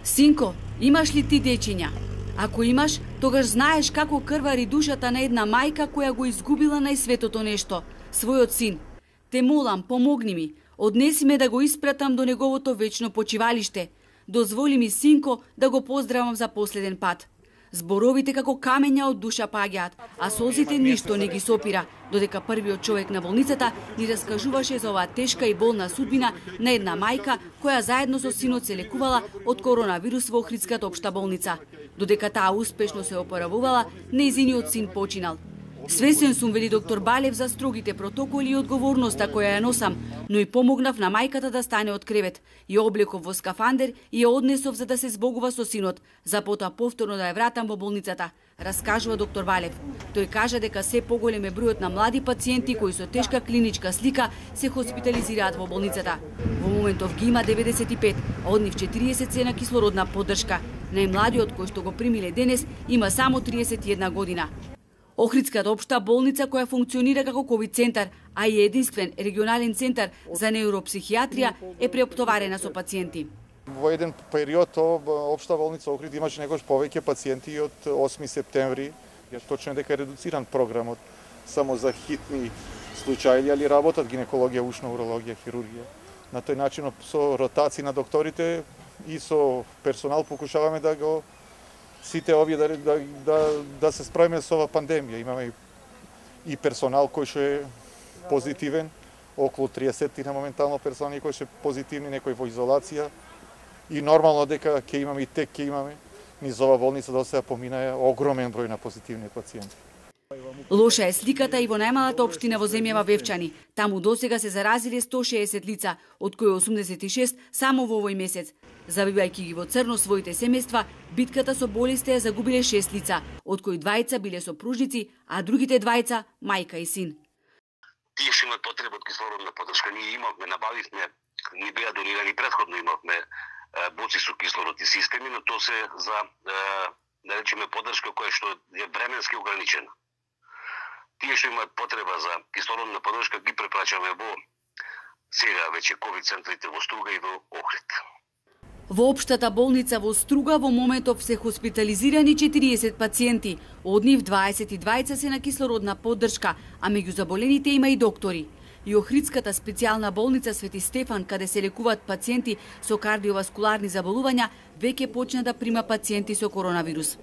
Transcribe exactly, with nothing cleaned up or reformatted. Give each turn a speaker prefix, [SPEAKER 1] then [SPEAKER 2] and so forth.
[SPEAKER 1] Синко, имаш ли ти дечиња? Ако имаш, тогаш знаеш како крвари душата на една мајка која го изгубила најсветото нешто, својот син. Те молам, помогни ми, однеси ме да го испратам до неговото вечно почивалиште. Дозволи ми, синко, да го поздравам за последен пат. Зборовите како камења од душа паѓаат, а солзите ништо не ги сопира, додека првиот човек на болницата ни раскажуваше за оваа тешка и болна судбина на една мајка која заедно со синот се лекувала од коронавирус во Охридската општа болница. Додека таа успешно се опоравувала, нејзиниот син починал. Свесен сум, вели доктор Балев, за строгите протоколи и одговорноста која ја носам, но и помогнав на мајката да стане од кревет. Ја облеков во скафандер и ја однесов за да се збогува со синот, за потоа повторно да ја вратам во болницата, раскажува доктор Балев. Тој кажа дека се поголем е бројот на млади пациенти кои со тешка клиничка слика се хоспитализираат во болницата. Во моментов ги има деветдесет и пет, а од нив четириесет се на кислородна поддршка. Најмладиот кој што го примиле денес има само триесет и една година. Охридската општа болница која функционира како ковид центар, а и единствен регионален центар за неуропсихијатрија е преоптоварена со пациенти.
[SPEAKER 2] Во еден период општа болница Охрид имаше некош повеќе пациенти од осми септември. Ја точно дека е редуциран програмот само за хитни случаи, али работат гинекологија, ушна урологија, хирургија. На тој начин со ротација на докторите и со персонал покушаваме да го сите овие да, да, да, да се справиме со оваа пандемија. Имаме и персонал кој што е позитивен, околу триесет на моментално персонали кои што е позитивни, некои во изолација. И нормално дека ќе имаме и тек ќе имаме низ оваа болница до сега поминаа огромен број на позитивни пациенти.
[SPEAKER 1] Лоша е сликата и во најмалата општина во земјава Вевчани. Таму досега се заразиле сто шеесет лица, од кои осумдесет и шест само во овој месец. Забивајќи ги во црно своите семејства, битката со болеста ја загубиле шест лица, од кои двајца биле сопружници, а другите двајца мајка и син.
[SPEAKER 3] Тие што имаат потреба од кислородна поддршка, ние имавме, набавивме, ни беа донирани претходно, имавме боци со кислород и системи, но тоа се за, да речеме, поддршка која што е временски ограничена. Тие што имаат потреба за кислородна поддршка ги препрачаме во сега веќе ковид центрите во Струга и во Охрид.
[SPEAKER 1] Во општата болница во Струга во моментов се хоспитализирани четириесет пациенти, од нив дваесет и двајца се на кислородна поддршка, а меѓу заболените има и доктори. И Охридската специјална болница Свети Стефан, каде се лекуваат пациенти со кардиоваскуларни заболувања, веќе почна да прима пациенти со коронавирус.